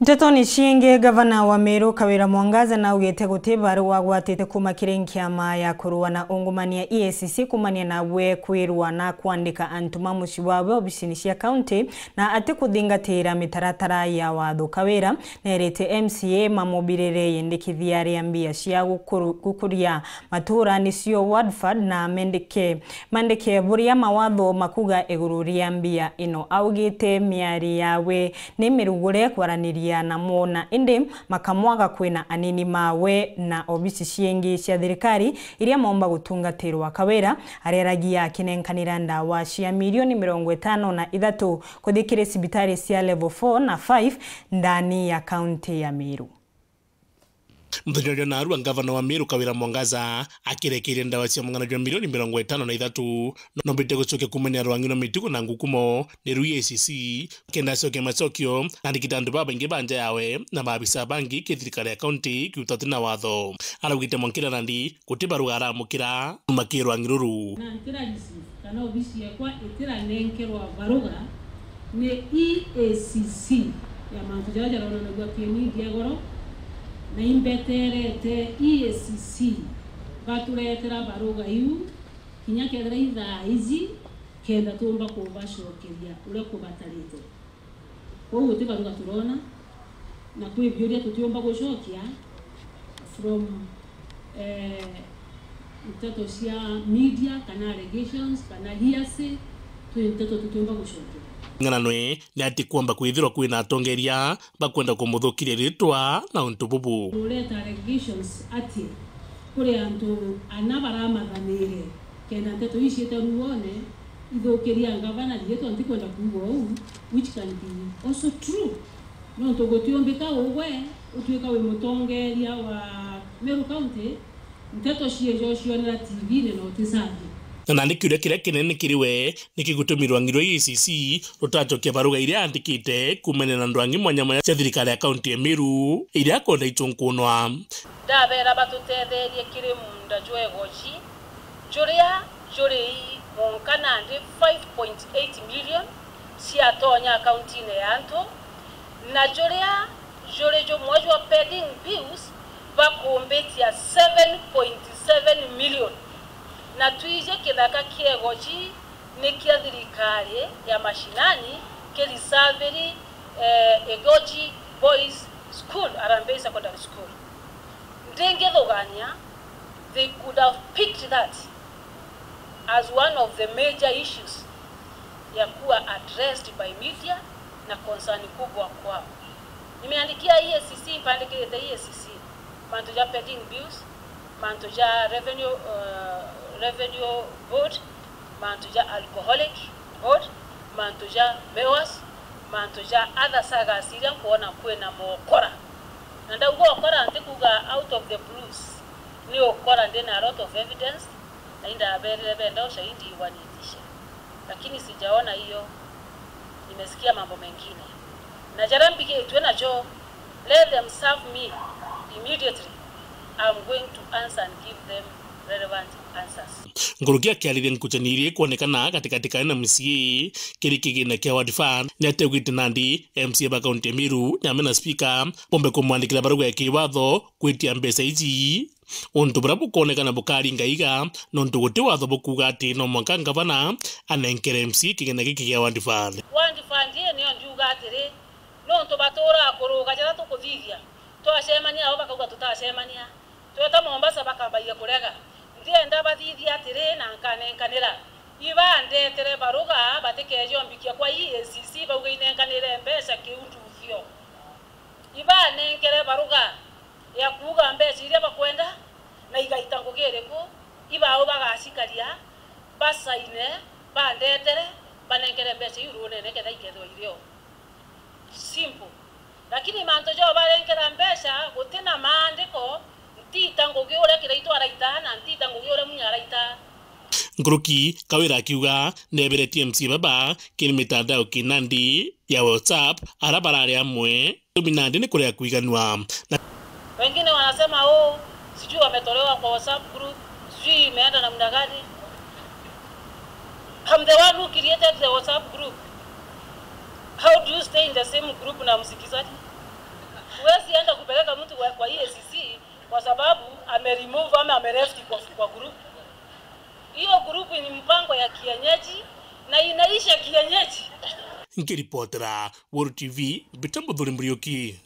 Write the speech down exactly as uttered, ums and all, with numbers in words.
Ntetoni ciingi, gavana wa Meru Kawira Mwangaza naugite guti barua agwatite kuma kiri nkiama ya kurua na ungumania E A C C kumania nawe kwirwa na kwandika antu ma mucii wawe obicini cia kaunti na atikuthingatira mitaratara ya watho. Kawira nerite M C A mamubirire yendekithia ria mbia cia gukuru-, gukuria matura nicio ward fund na mendeke, mandike buria mawatho makuga iguru ria mbia ino. Augite miari yawe ni mirugure kwaraniria namo na indi makamwaga kwina anini mawe na obisi ciingi cia thirikari iria maumba gutungatirwa. Kawira ariaragia akinenkanira ndawa cia milioni mirongo itano na ithatu kuthi kiri cibitari cia level four na five ndani ya kaunti ya Meru. Muthenya jwa narua, ngavana wa Meru Kawira Mwangaza akirekeire ndawa cia mung'ana jwa milioni mirongo itano na ithatu, nombite gucokia kumania rwangi rwa mitugo na ngukumo ni rwa E A C C, kenda acokia macokio na arigita antu babaingi ba nja yawe na maabisa bangi ki thirikari ya kaunti kiuta uti na watho. Araugite mwankira nandi guti barua aramukira kuma ki rwangi ruru. Na ntira receive kana obisi yekwa itiranenkerwa baruga ni E A C C ya mantu jaria jaronanagua ki media igoro, na imbeterete E A C C baturetera baruga iu kinya kethira ithaa iji, kenda tuumba kubacokeria uria kubatarite. Kwou guti baruga turona, na kwi biuria tutiumba gucokia from, eh, nteto cia media, kana allegations, kana hearsay, twi nteto tutiumba gucokia. Ng'ananwe ni ati kwomba kwithirwa kwina atongeria bakwenda kumuthukiria ritwa na untu bubu. Ureta allegations ati kuri antu ana baramathanire kenda nteto ici ciite ruone ithukiria ngavana riitwa, ntikwenda kuuga uu, which can be also true. Nontu gutiumbika ugwe utuika wi mutongeria wa Meru County, nteto ciejo cionera T V-ini na uticambia. Na nandi kiuria kiria kinene kiri we, niki gutumi rwangi rwa E A C C rutacokia baruga iria andikite kumania na ndwangi mwanya mwanya cia thirikari ya kaunti ya Meru iria akwenda itunkunwa? Ndabera batutetherie kiri muunda jwa igoji, juria juri ii mwonka nandi five point eight million ciatonya akauntiine ya antu, na juria juri jumwe jwa pending bills bakumbitia seven point seven million. Na twiji kithaka kia igoji ni kia thirikari ya mashinani, kiri saviri, eh, Igoji Boys School, Harambee Secondary School. Ndingithugania, they could have picked that as one of the major issues ya kuwa addressed by media na concern kubwa kwao. Nimeandikia E A C C, mpandikirite E A C C, mantu ja pending bills, mantu ja revenue, uh, revenue board, mantu ja alcoholic board, mantu ja mewas, mantu ja other sagas iria nkwona kwina mokora. Na ndauga ukora, ntikuga out of the blues, ni ukora ndina a lot of evidence, na indaberire benda ushahidi wanitishe. Lakini sijaona hiyo, nimesikia mambo mengine. Na jaria mbigitwe najo, let them serve me immediately. I'm going to answer and give them relevant answers. Nkuruki akiariria nkuchani iria ikwonekana gatigati ka M C A kiri kigina kia ward fund, ni ateugite nandi M C A ba kaunti ya Meru ni amwe na speaker bombe kumwandikira baruga ya kiwatho kwitia mbeca iji. Untu buria bukoonekana bukaringa iga, nontu guti watho bukuuga ati no mwanka ngavana anenkere M C A kigina giki gia ward fund. Ward fund ii niyo ndiuga atiri, nontu baturaa kuruga jaria tukuthithia, twacemania nao bakauga tutacemania, tweta Mombasa bakambagia kurega. Ndienda bathithia atiri na nkanenkanira. Ibandetere baruga batikeje ombikia kwa E A C C bauge inenkanire mbeca kiu nduthio. Ibanenkere baruga ya kuuga mbeca iria bakwenda na igaita ngugi iriku, ibao bagacikaria, basaine, bandetere, banenkere mbeca iu ruunene kethira ikethirwa irio. Simple. Lakini mantu jao barenkera mbeca guti na maandiko, ntiita ngugi uria Kiraitu araita na ntiita ngugi uria Munya araita. Nkuruki Kawira akiuga neberetie M C A baba kiri mitandao ki nandi ya WhatsApp, ara barari amwe tumi nandi ni kuria kwiganua. Na wengine wanasema, "Oh, sijui wametolewa kwa WhatsApp group, sijui imeenda namna gani." I'm the one who created the WhatsApp group. How do you stay in the same group na msikizaji? Huwezi enda kupeleka mtu kwa, kwa E A C C kwa sababu ameremove ama ameleft kwa, kwa group. Hiyo group ni mpango ya kienyeji na inaisha kienyeji. Nkiripotera Weru T V, Peter Muthuri Muriuki.